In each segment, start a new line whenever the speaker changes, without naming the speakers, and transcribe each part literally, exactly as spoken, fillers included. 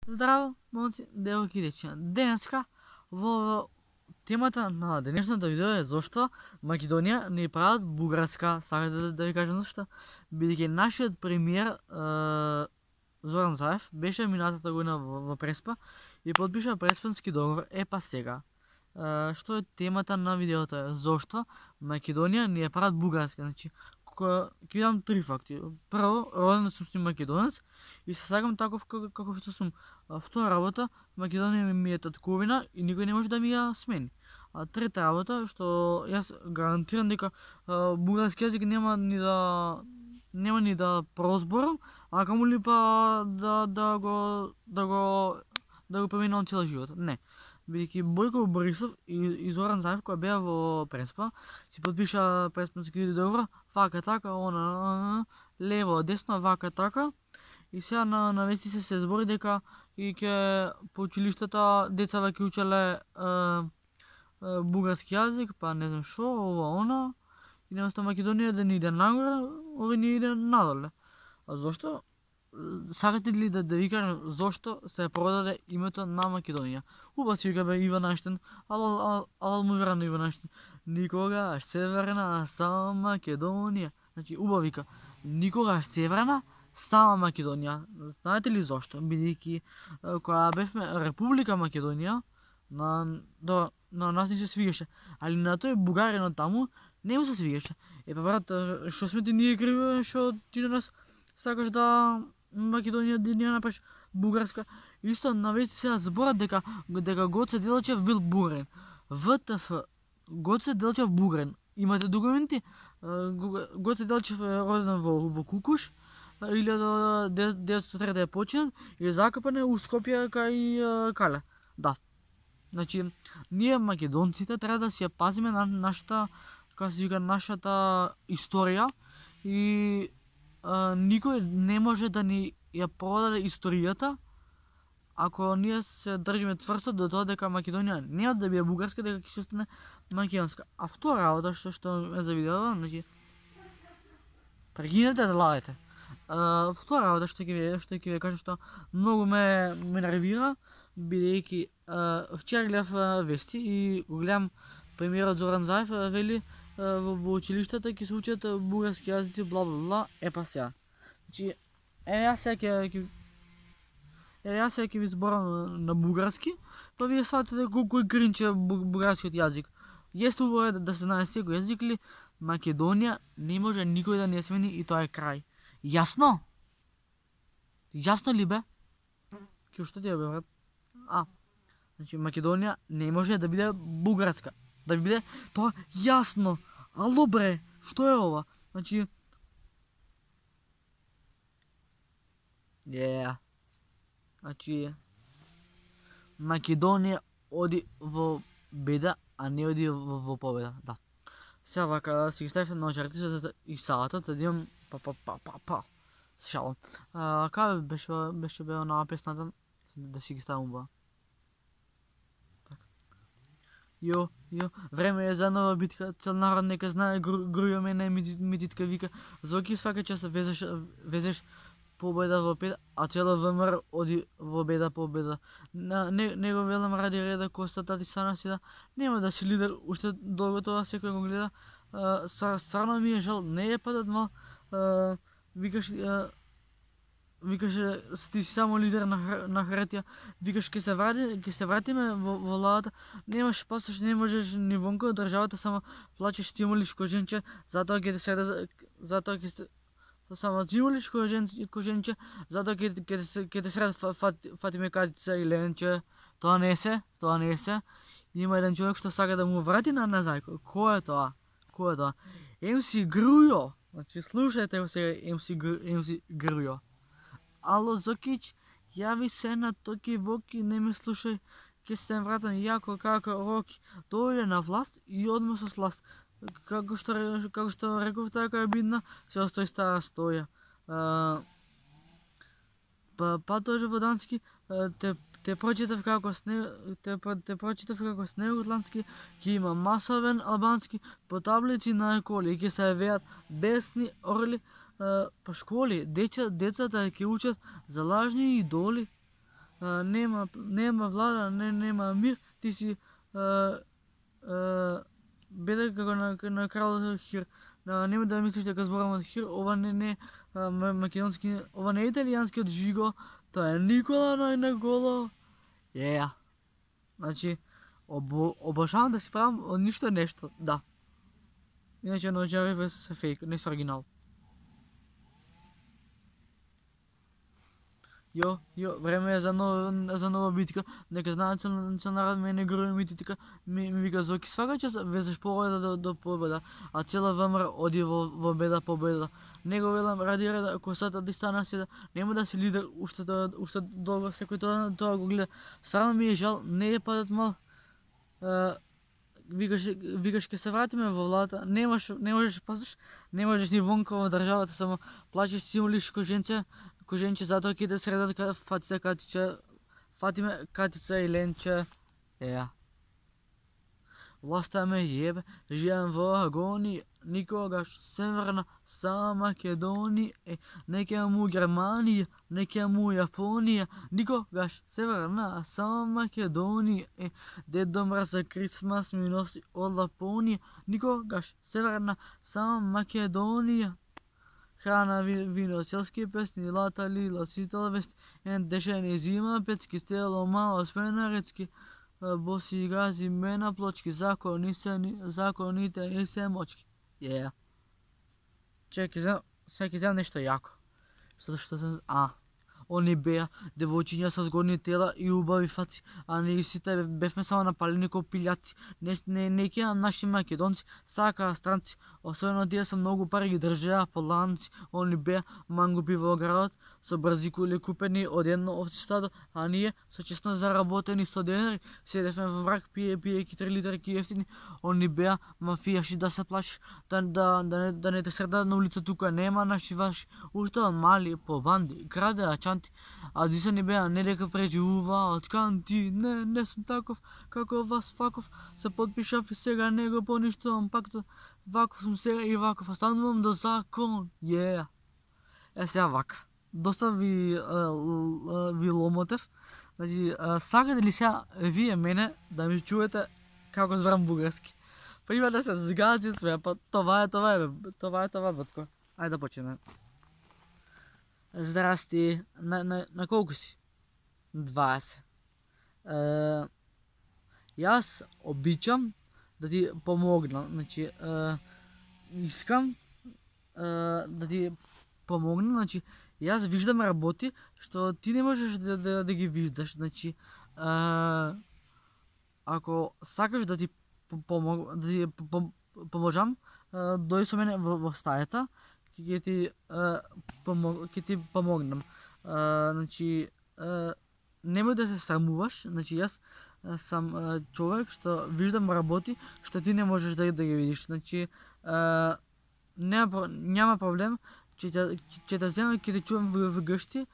Здраво, момци, девојки и дечиња. Денеска во темата на денешното видео е зошто Македонија не прават бугарска. Сакате да, да ви кажам зашто? Бидејќи нашиот премиер е, Зоран Заев беше минатата година во, во Преспа и подпиша Преспански договор. Е па сега. Е, што е темата на видеото е зошто Македонија не прават бугарска. Значи, ќе ви дам три факти. Прво, роден сум си македонец и се сакам таков како, како што сум. А втора работа, Македонија ми е татковина и никој не може да ми ја смени. А трета работа, што јас гарантирам дека а, бугарски јазик нема ни да нема ни да прозборам, а камоли па да да го да го да го преминувам цел живот. Не. Бидејќи Бојко Борисов и, и Зоран Заев која беа во Преспа, си подпиша Преспански договор, вака така, она, лево, десно, вака така. И сега на, на вести се се збори дека и ќе по училиштата децава ќе учеле е, е, бугарски јазик, па не знам шо, ова, она. И наместо Македонија да ни иде нагоре, овој ни иде надоле. А зошто? Сакате ли да, да ви кажам зошто се продаде името на Македонија? Уба си вика бе Иван Аштен, ала, ала, ала му вера на Иван Аштен. Никогаш северна, само Македонија. Значи, уба вика, никогаш северна, сама Македонија. Знаете ли зошто? Бидејќи кога бевме Република Македонија, на, до, на нас не се свигаше, али на тој бугаринот таму не му се свигаше. Е па брат, што сме ти ние криви, што ти на нас сакаш да Македонија да ја направиш бугарска? Исто на вести сега зборат дека дека Гоце Делчев бил бугарин. ВТФ, Гоце Делчев бугарин. Имате документи? Гоце Делчев е роден во, во Кукуш, илјада деветстотини и трета е починат и закапан е у Скопје кај Кале. Да. Значи, ние македонците треба да си ја пазиме на нашата, како се вика, нашата историја и а, никој не може да ни ја продаде историјата ако ние се држиме цврсто до тоа дека Македонија нема да биде бугарска, дека ќе остане македонска. А втора работа што што ме завидела, значи прегинете да лагате. Uh, втора работа што ќе ви што ќе ви кажам што многу ме ме нервира, бидејќи uh, вчера гледав uh, вести и го гледам премиерот Зоран Заев uh, вели uh, во, во училиштата ќе се учат uh, бугарски јазици, бла бла бла. Е па сега. Значи, е јас сега ќе ќе е јас сега ќе ви зборам на, на бугарски, па вие сватите колку е кринче бугарскиот јазик. Јесте убаво да, да се знае секој јазик ли, Македонија не може никој да не смени и тоа е крај. Јасно? Јасно ли бе? Ке што ти е бе, брат? А, значи Македонија не може да биде бугарска. Да биде тоа јасно. Ало бре, што е ова? Значи Yeah. Значи Македонија оди во беда, а не оди во, во победа. Да. Сега вака си ги ставив на очертицата и салатот, да имам па па па па па. Се шалам. А, каде беше беше беа на песната да си ги ставам ба. Јо, јо, време е за нова битка, цел народ нека знае, груја мене мититка вика, зоки свака час везеш везеш победа во пет, а цела ВМРО оди во беда победа. Не, не го велам ради реда Коста Тати Сана си да нема да си лидер, уште долго тоа секој го гледа. Стварно ми е жал, не е падат мал, викаш викаш ти си само лидер на на хартија, викаш ќе се врати, ќе се вратиме во во владата, немаш пасош, не можеш ни вонка од државата, само плачеш, стимулиш коженче, затоа ќе те се затоа ќе се само стимулиш коженче, коженче, затоа ќе ќе ќе те сред Фатиме Катица и Ленче. Тоа не се, тоа не се. Има еден човек што сака да му врати на назад. Кој е тоа? Кој е тоа? Ем си Грујо. Значи слушајте го сега, ем си ем си Грујо. Ало Зокич, јави се на Токи Воки, не ме слушај, ќе се вратам јако како Роки. Дојде на власт и одма со сласт. Како што како што реков така е бидна, се остои стара стоја. А, па па тоа во дански те те прочитав како сне те те прочитав како снеготландски, ќе има масовен албански по таблици на коли, ќе се веат бесни орли. По школи, деца, децата ќе учат за лажни идоли. а, нема, нема влада, не, нема мир, ти си а, а, беда како на, на крал Хир. А, нема да мислиш дека зборам од Хир, ова не не а, македонски, ова не е италијанскиот Жиго, тоа е Никола Најнаголо. Е, yeah. Значи, обо, обожавам да си правам од ништо нешто, да. Иначе No Jarvis се фейк, не се оригинал. Јо, јо, време е за нова, за нова битка. Нека знаат се народ мене грои мити така ми, ми вика Зоки свака час везеш победа до, до победа, а цела ВМРО оди во, во беда победа. Него велам ради реда косата да стана седа, нема да си лидер уште да уште долго секој тоа тоа го гледа. Сарно ми е жал, не е падат мал. Uh, викаш викаш ке се вратиме во владата, немаш не можеш пазиш, не можеш ни вонка во државата, само плачеш симулиш коженце, коженче затоа ќе те средат Фатица Катича, Фатиме Катица и Ленче. Еа. Власта ме јебе, живеам во агонија, никогаш Северна са Македонија, е, неке му Германија, неке му Јапонија, никогаш Северна са Македонија, е, Дедо Мраз за Крисмас ми носи од Лапонија, никогаш Северна са Македонија. Храна, вино, селски песни, лата, лила, сител вести, ен дешени зима, пецки, стело, мало, спенарецки, боси гази, мена плочки, закони се, законите не се мочки. Е, yeah. Чекай, сега ќе земам нешто јако. Zato што сам, а, они беа девојчиња со згодни тела и убави фаци, а ние сите бевме само напалени ко пиљаци. Не, не, неки наши македонци сакаа странци, особено тие со многу пари ги држеа по ланци. Они беа мангупи во градот, со брзи кули купени од едно овце стадо, а ние со честно заработени сто денари седевме во мрак пие пиеки три литрки ефтини. Они беа мафијаши да се плашиш, да, да, да, не, да не те средат на улица, тука нема наши ваши. Уште од мали по банди, крадеа чанти, а дисани беа не дека преживуваат канти. Не, не сум таков како вас факов, се подпишав и сега не го поништувам пактот. Ваков сум сега и ваков останувам до закон. Е, yeah. Е сега вака. Доста ви, а, ви ломотев. Значи, а, сакате ли сега вие мене да ми чуете како зборам бугарски? Па има да се згази све, па това е това е, това е това, батко. Ајде да почнеме. Здрасти, на, на, на колку си? дваесет. Е, јас обичам да ти помогнам, значи, е, искам е, да ти помогнам, значи, јас виждам работи што ти не можеш да, да, да ги виждаш, значи, е, ако сакаш да ти помог, да ти поможам, дојди со мене во, во стајата, ќе ти помог, ќе ти помогнам. А, значи, а, немој да се срамуваш, значи јас сам а, човек што виждам работи што ти не можеш да, да ги видиш. Значи, а, нема, няма проблем, ќе ќе те земам, ќе те чувам во, во гшти,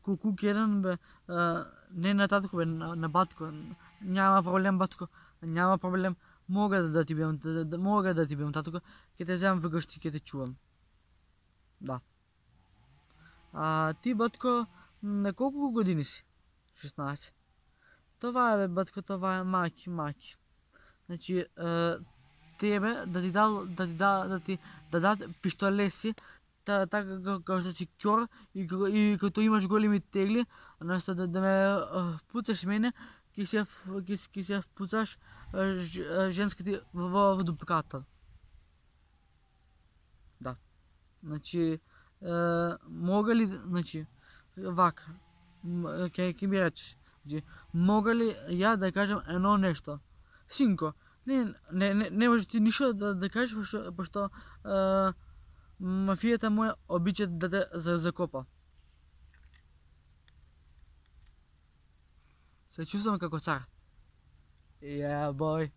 куку еден бе, а, не на татко бе, на, на батко. Няма проблем, батко, няма проблем. Мога да, да ти бидам, да, да, мога да ти бидам татко, ќе те земам во гшти, ќе те чувам. Да. А ти, батко, на колку години си? шеснаесет. Това е, бе, батко, това е маки, маки. Значи, е, тебе да ти дал, да ти да, да ти да дадат пиштолеси, така како што си ќор и, и като имаш големи тегли, наместо да, да ме впуцаш мене, ќе се ќе ќе се впуцаш женските во, во дупката. Да. Значи, е, мога ли, значи, вака, ќе ќе ми речеш, значи, мога ли ја да кажам едно нешто? Синко, не не не, не можеш ти ништо да, да кажеш, пошто, пошто е, мафијата моја обича да те закопа. Се чувствам како цар. Yeah, boy.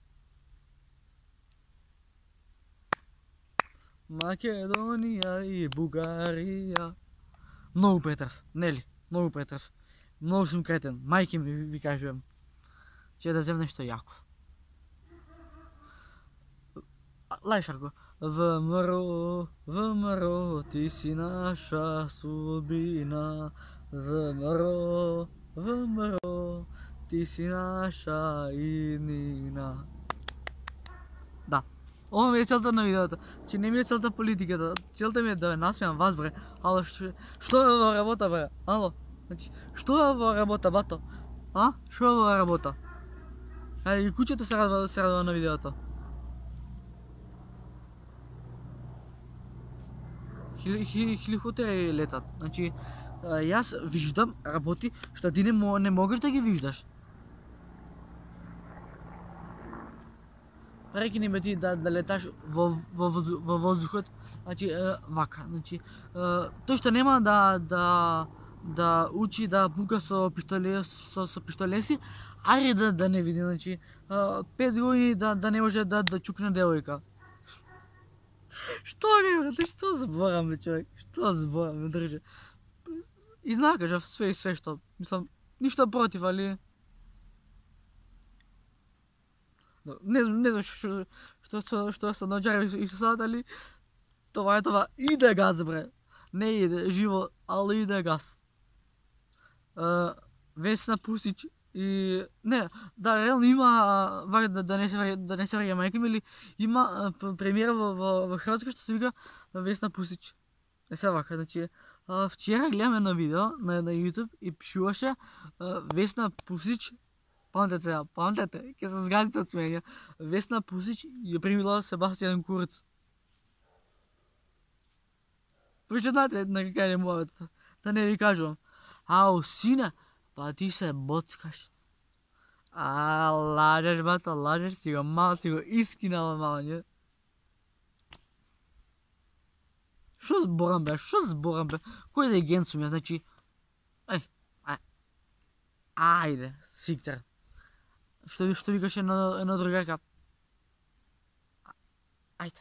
Македонија и Бугарија. Многу претрав, нели? Многу претрав. Многу сум кретен. Мајки ми ви кажувам. Че да земам нешто јако. Лајшарко. ВМРО, ВМРО, ти си наша судбина. ВМРО, ВМРО, ти си наша иднина. Да. Ова ми е целта на видеото. Че не ми е целта политиката. Целта ми е да насмеам вас, бре. Ало, што, што е ова работа, бре? Ало. Значи, што е ова работа, бато? А? Што е ова работа? Ај, и куќето се радува, се радува на видеото. Хеликоптери летат. Значи, јас виждам работи што ти не, не можеш да ги виждаш. Прекини ме ти да, да леташ во, во, во воздухот, значи вака, значи тој што нема да да да учи да пука со пиштоле со, со пиштолеси, ајде да да не види, значи пет години да да не може да да чукне девојка. Што ми брате, што зборам бе човек? Што зборам ме држи? Изнакажав све и све што, мислам, ништо против, али не знам, не знам што што што што се наџари и се сад, али това е това. Иде газ, бре. Не иде живо, али иде газ. Uh, Весна Пусич и не, да, реално има вака да, да не се да не се враќа мајка ми, или има премиера во во, во Хрватска што се вика Весна Пусич. Е се вака, значи вчера гледаме на видео на на YouTube и пишуваше Весна Пусич. Памтете сега, памтете, ќе се згазите од смење. Весна Пусич ја примила Себастијан Курц. Прочитате на какај е муавет, да не ви кажувам. Ау, сине, па ти се боцкаш. А, лажеш, бато, лажеш, си го мал, си го искинала мало, не? Шо зборам бе, шо зборам бе? Кој да е ген сум ја, значи... Еј, ај... Ајде, сиктер. Што, што викаш една, една другарка? Ајде.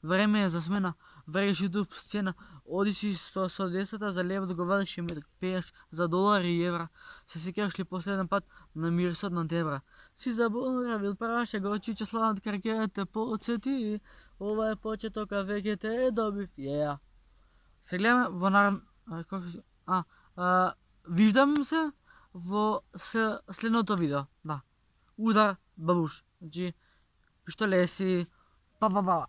Време е за смена. Вреш YouTube сцена. Оди си со, со десета за лев договараш и ме пееш за долари и евра. Се сеќаваш ли последен пат на мирисот на дебра? Си заборавил праша го чиче слават каркера те подсети. Ова е почеток, а веќе те е добив. Еа. Се гледаме во наран... А, како се... А, а, виждам се во се, следното видео. Да. Удар, бабуш. Значи, пиштолеси, па па па.